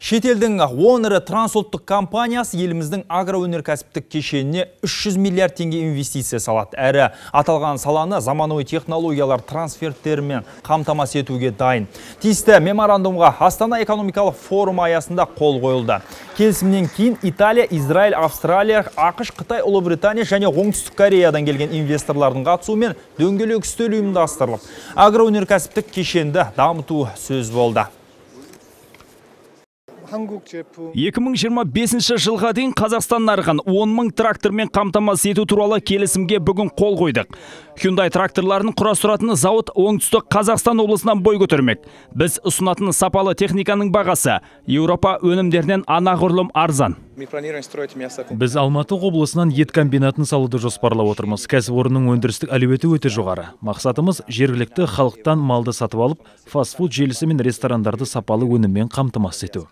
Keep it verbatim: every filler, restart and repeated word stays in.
Шетелдің он ірі трансұлттық компаниясы еліміздің агроөнеркәсіптік кешеніне үш жүз миллиард теңге инвестиция салады. Әрі аталған саланы заманауи технологиялар трансферттерімен қамтамасыз етуге дайын. Тиісті меморандумға Астана экономикалық форум аясында қол қойылды. Келісімнен кейін Италия, Израиль, Австралия, ақш, Қытай, Ұлыбритания және Оңтүстік Кореядан келген инвесторлардың қатысуымен дөңгелек үстел ұйымдастырылып, агроөнеркәсіптік кешенді дамыту сөз болды. екі мың жиырма бесінші жылға дейін Қазақстан нарығын он мың трактормен қамтамасыз ету туралы келісімге бүгін қол қойдық. Hyundai тракторларын құрастыратын зауыт оңтүстік Қазақстан облысынан бой көтермек. Біз ұсынатын сапалы техниканың бағасы Еуропа өнімдерінен анағұрлым арзан. Біз Алматы облысынан ет комбинатын салуды жоспарлап отырмыз. Кәсіпорынның өндірістік әлеуеті өте жоғары. Мақсатымыз жергілікті халықтан малды сатып алып, фастфуд желісі мен ресторандарды сапалы өніммен қамтамасыз ету.